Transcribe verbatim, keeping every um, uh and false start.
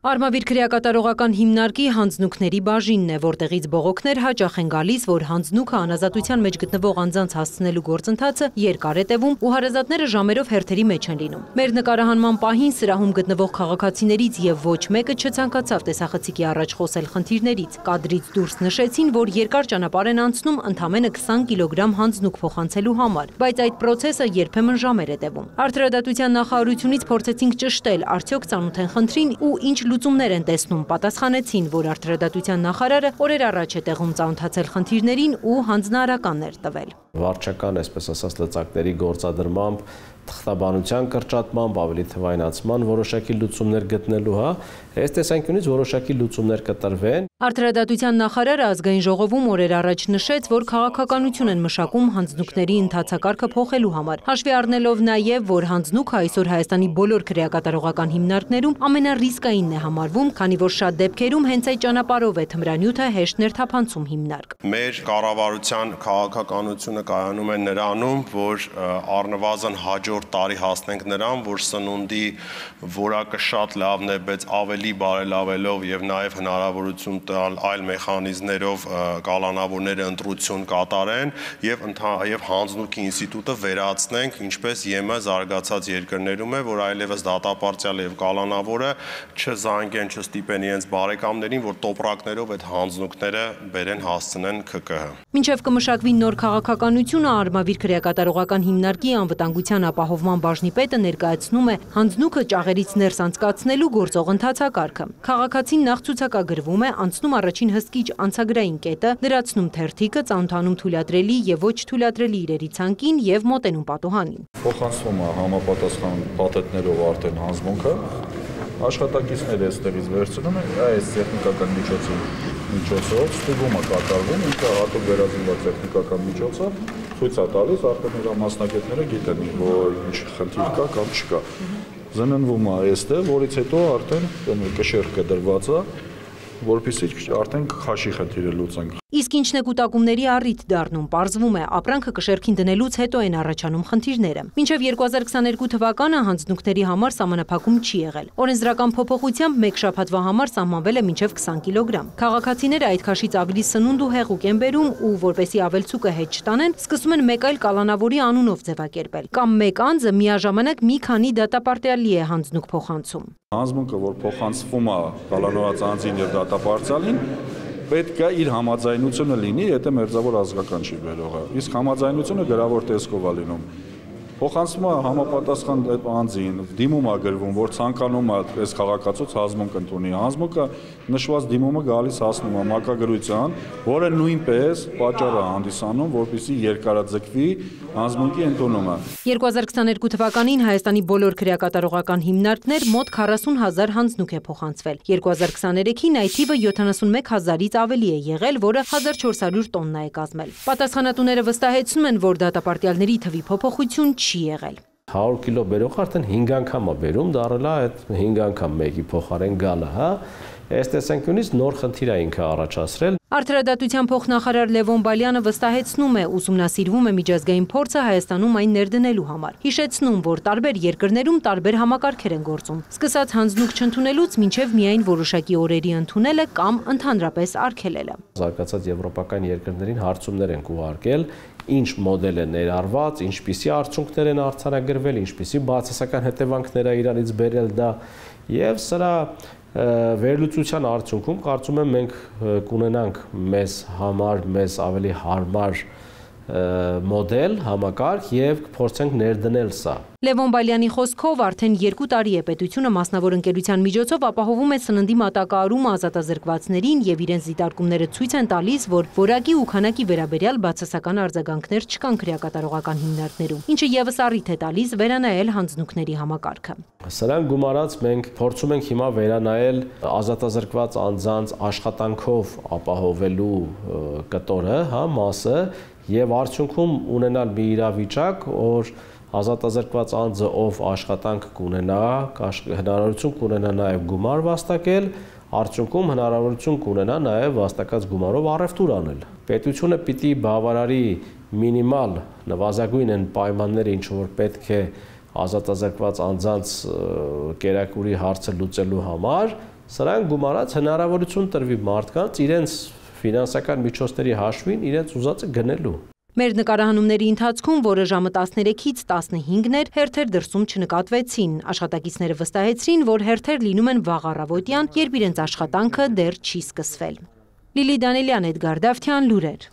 Արմավիր քրեակատարողական հիմնարկի հանձնուկների բաժինն է, որտեղից բողոքներ հաճախ են գալիս, որ հանձնուկը անազատության մեջ գտնվող անձանց հասցնելու գործընթացը երկար է տևում ու հարազատները ժամերով հերթերի մեջ են լինում։ Մեր նկարահանման պահին սրահում գտնվող քաղաքացիներից եւ ոչ մեկը չցանկացավ տեսախցիկի առաջ խոսել խնդիրներից։ Կադրից դուրս նշեցին, որ երկար ճանապարհ են անցնում ընդամենը քսան կիլոգրամ հանձնուկ փոխանցելու համար, բայց այդ պրոցեսը երբեմն ժամեր է տևում։ Արդարադատության նախարարությունից փորձեցինք ճշտել, արդյոք ծանոթ են խնդրին ու ինչ լուծումներ են տեսնում, պատասխանեցին, որ արդարադատության նախարարը օրեր առաջ է տեղում ծանոթացել խնդիրներին ու հանձնարարականներ տվել։ Վարչական, այսպես ասած, լծակների գործադրմամբ, թղթաբանության կրճատմամբ, ավելի թվայնացման որոշակի լուծումներ գտնելու, հա, այս տեսանկյունից որոշակի լուծումներ կտրվեն։ Արդարադատության նախարարը ազգային ժողովում օրեր առաջ նշեց, որ քաղաքականություն են մշակում հանձնուկների ընթացակարգը փոխելու համար, հաշվի առնելով նաև, որ հանձնուկը այսօր Հայաստանի բոլոր քրեակատարողական հիմնարկներում ամենառիսկայինն է համարվում, քանի որ շատ դեպքերում հենց այդ ճանապարհով է թմրանյութը հեշտ ներթափանցում հիմնարկ։ Մեր կառավարության քաղաքականությունը կայանում է նրանում, որ առնվազն հաջորդ տարի հասնենք նրան, որ սնունդի որակը շատ լավն է, բայց ավելի բարելավելով եւ նաեւ հնարավորություն տալ այլ մեխանիզմներով կալանավորները ընտրություն կատարեն եւ եւ հանձնուկի ինստիտուտը վերացնենք, ինչպես ԵՄ զարգացած երկրներում է, որ այլևս դատապարտյալը եւ կալանավորը չզանգեն, չստիպեն իրենց բարեկամներին, որ տոպրակներով այդ հանձնուկները բերեն հասցնեն ՔԿՀ։ Մինչև կմշակվի նոր քաղաքականությունը, Արմավիր քրեակատարողական հիմնարկի անվտանգության ապահովման բաժնի պետը ներկայացնում է հանձնուկը ճաղերից ներս անցկացնելու գործող ընթացակարգը։ Քաղաքացին նախ ցուցակագրվում է, անցնում առաջին հսկիչ անցագրային կետը, լրացնում թերթիկը, ծանոթանում թույլատրելի եւ ոչ թույլատրելի իրերի ցանկին եւ մոտենում պատուհանին։ Փոխանցվում է համապատասխան փաթեթներով արդեն հանձնուկը, աշխատակիցները այստեղից վերցնում են, այս տեխնիկական միջոցի միջոցով ստուգումը կատարվում, ինքը հատուկ վերածնված տեխնիկական միջոցով ցույց է տալիս, արդեն նրա մասնակիցները գիտեն, որ ինչ խնդիր կա կամ չկա։ Զննվում է այստեղ, որից հետո արդեն կշեռքը դրված է, որպեսզի արդեն քաշի խնդիրը լուծենք։ Իսկ ինչն է կուտակումների առիթ դառնում, պարզվում է, ապրանքը կշեռքին դնելուց հետո են առաջանում խնդիրները։ Մինչև երկու հազար քսաներկու թվականը հանձնուկների համար սահմանափակում չի եղել։ Օրենսդրական փոփոխությամբ մեկ շաբաթվա համար սահմանվել է մինչև քսան կիլոգրամ։ Քաղաքացիները այդ քաշից ավելի սնունդ ու հեղուկ են բերում ու որպեսզի ավելցուկը հետ չտանեն, սկսում են մեկ այլ կալանավորի անունով ձևակերպել։ Կամ մեկ անձը միաժամանակ մի քանի դատապարտյալի է հանձնուկ փոխանցում։ Հանձնուկը, որ փոխանցվում է կալանավորած անձին եւ դատապարտյալին, պետք է իր համաձայնությունը լինի, եթե մերձավոր ազգական չի բերողը։ Իսկ համաձայնությունը գրավոր տեսքով է լինում։ Փոխանցվում է համապատասխան անձին, դիմում է գրվում, որ ցանկանում է այս քաղաքացուց հանձնուկ ընդունի։ Հանձնուկը նշված դիմումը գալիս հասնում է մակագրության, որը նույնպես պատճառ է հանդիսանում, որպեսզի երկարաձգվի հանձնուկի ընդունումը։ երկու հազար քսաներկու թվականին Հայաստանի բոլոր քրեակատարողական հիմնարկներ մոտ քառասուն հազար հանձնուկ է փոխանցվել։ երկու հազար քսաներեքին այդ թիվը յոթանասունմեկ հազարից ավելի է եղել, որը հազար չորս հարյուր տոննա է կազմել։ Պատասխանատուները վստահեցնում են, որ դատապարտյալների թվի փոփոխություն չի եղել։ հարյուր կիլո բերող արդեն հինգ անգամ է բերում, դառել է այդ հինգ անգամ մեկի փոխարեն գալը, հա։ Այս տեսանկյունից նոր խնդիր է ինքը առաջացրել։ Արդարադատության փոխնախարար Լևոն Բալյանը վստահեցնում է, ուսումնասիրվում է միջազգային փորձը Հայաստանում այն ներդնելու համար։ Հիշեցնում, որ տարբեր երկրներում տարբեր համակարգեր են գործում, սկսած հանձնուկ չընդունելուց մինչև միայն որոշակի օրերի ընդունելը կամ ընդհանրապես արգելելը։ Զարգացած եվրոպական երկրներին հարցումներ են ուղարկել, ինչ մոդել է ներառված, ինչպիսի արդյունքներ են արձանագրվել, ինչպիսի բացասական հետևանքներ է իրանից բերել դա, եւ սրա վերլուծության արդյունքում կարծում եմ մենք կունենանք մեզ համար մեզ ավելի հարմար մոդել, համակարգ եւ կփորձենք ներդնել սա։ Լևոն Բալյանի խոսքով արդեն երկու տարի է պետությունը մասնավոր ընկերության միջոցով ապահովում է սննդի մատակարարումը ազատազրկվածներին եւ իրենց դիտարկումները ցույց են տալիս, որ որակի ու քանակի վերաբերյալ բացասական արձագանքներ չկան քրեակատարողական հիմնարկներում, ինչը եւս առիթ է տալիս վերանայել հանձնուկների համակարգը։ Սրան գումարած մենք փորձում ենք հիմա վերանայել ազատազրկված անձանց աշխատանքով ապահովելու կտորը, հա, մասը եւ արդյունքում ունենալ մի իրավիճակ, որ ազատազրկված անձը, ով աշխատանք կունենա, հնարավորություն կունենա նաև գումար վաստակել, արդյունքում հնարավորություն կունենա նաև վաստակած գումարով առևտուր անել։ Պետությունը պիտի բավարարի մինիմալ նվազագույն են պայմանները, ինչ որ պետք է ազատազրկված անձանց կերակուրի հարցը լուծելու համար, սրանք գումարած հնարավորություն տրվի մարդկանց իրենց ֆինանսական միջոցների հաշվին իրենց ուզածը գնելու։ Մեր նկարահանումների ընթացքում, որը ժամը տասներեքից տասնհինգն էր, հերթեր դրսում չնկատվեցին։ Աշխատակիցները վստահեցրին, որ հերթեր լինում են վաղ առավոտյան, երբ իրենց աշխատանքը դեռ չի սկսվել։ Լիլի Դանելյան, Էդգար Դավթյան, լուրեր։